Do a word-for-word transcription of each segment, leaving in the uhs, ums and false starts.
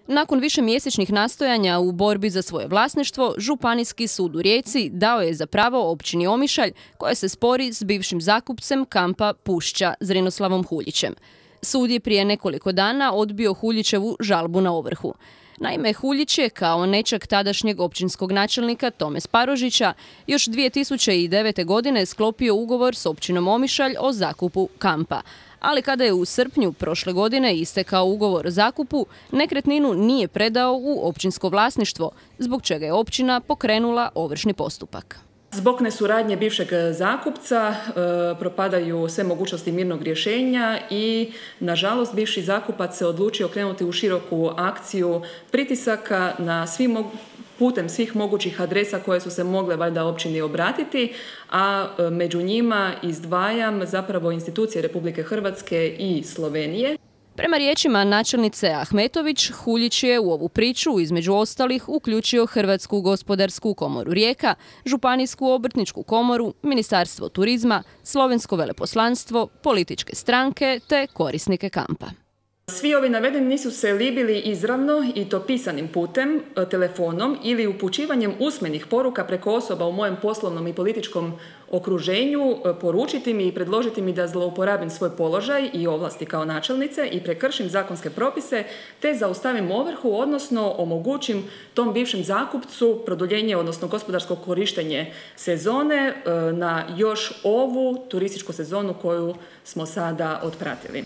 Nakon višemjesečnih nastojanja u borbi za svoje vlasništvo, Županijski sud u Rijeci dao je za pravo općini Omišalj koja se spori s bivšim zakupcem kampa Pušća Zrinoslavom Huljićem. Sud je prije nekoliko dana odbio Huljićevu žalbu na ovrhu. Naime, Huljić je kao nećak tadašnjeg općinskog načelnika Tome Sparožića još dvije tisuće devete. godine sklopio ugovor s općinom Omišalj o zakupu kampa. Ali kada je u srpnju prošle godine istekao ugovor o zakupu, nekretninu nije predao u općinsko vlasništvo, zbog čega je općina pokrenula ovršni postupak. Zbog nesuradnje bivšeg zakupca e, propadaju sve mogućnosti mirnog rješenja i, nažalost, bivši zakupac se odlučio krenuti u široku akciju pritisaka na svim putem svih mogućih adresa koje su se mogle valjda općini obratiti, a među njima izdvajam zapravo institucije Republike Hrvatske i Slovenije. Prema riječima načelnice Ahmetović, Huljić je u ovu priču između ostalih uključio Hrvatsku gospodarsku komoru Rijeka, Županijsku obrtničku komoru, Ministarstvo turizma, Slovensko veleposlanstvo, političke stranke te korisnike kampa. Svi ovi navedeni nisu se libili izravno i to pisanim putem, telefonom ili upućivanjem usmenih poruka preko osoba u mojem poslovnom i političkom okruženju poručiti mi i predložiti mi da zlouporabim svoj položaj i ovlasti kao načelnice i prekršim zakonske propise te zaustavim ovrhu, odnosno omogućim tom bivšem zakupcu produljenje, odnosno gospodarsko korištenje sezone na još ovu turističku sezonu koju smo sada otpratili.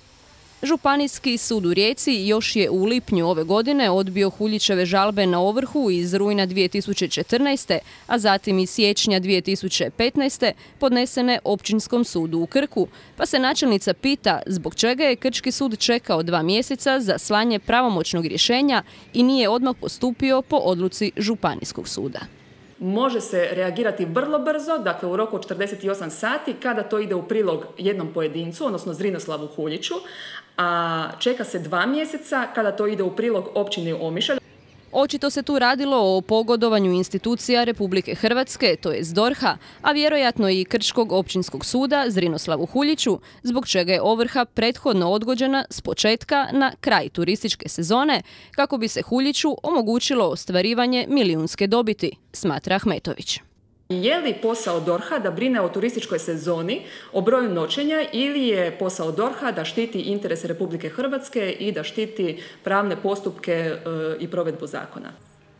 Županijski sud u Rijeci još je u lipnju ove godine odbio Huljićeve žalbe na ovrhu iz rujna dvije tisuće četrnaeste. a zatim i siječnja dvije tisuće petnaeste. podnesene Općinskom sudu u Krku, pa se načelnica pita zbog čega je Krčki sud čekao dva mjeseca za slanje pravomoćnog rješenja i nije odmah postupio po odluci Županijskog suda. Može se reagirati vrlo brzo, dakle u roku od četrdeset osam sati, kada to ide u prilog jednom pojedincu, odnosno Zrinoslavu Huljiću, a čeka se dva mjeseca kada to ide u prilog općini Omišalj. Očito se tu radilo o pogodovanju institucija Republike Hrvatske, to jest D O R H-a, a vjerojatno i Krčkog općinskog suda Zrinoslavu Huljiću, zbog čega je ovrha prethodno odgođena s početka na kraj turističke sezone, kako bi se Huljiću omogućilo ostvarivanje milijunske dobiti, smatra Ahmetović. Je li posao D O R H-a da brine o turističkoj sezoni, o broju noćenja, ili je posao D O R H-a da štiti interese Republike Hrvatske i da štiti pravne postupke e, i provedbu zakona?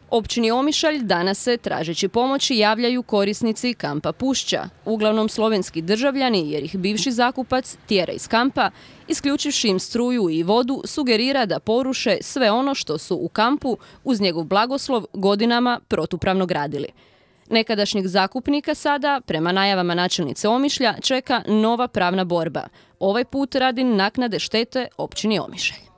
Općini Omišalj danas se, tražeći pomoći, javljaju korisnici kampa Pušća, uglavnom slovenski državljani jer ih bivši zakupac tjera iz kampa, isključivši im struju i vodu, sugerira da poruše sve ono što su u kampu uz njegov blagoslov godinama protupravno gradili. Nekadašnjeg zakupnika sada, prema najavama načelnice Omišlja, čeka nova pravna borba. Ovaj put radi naknade štete općini Omišalj.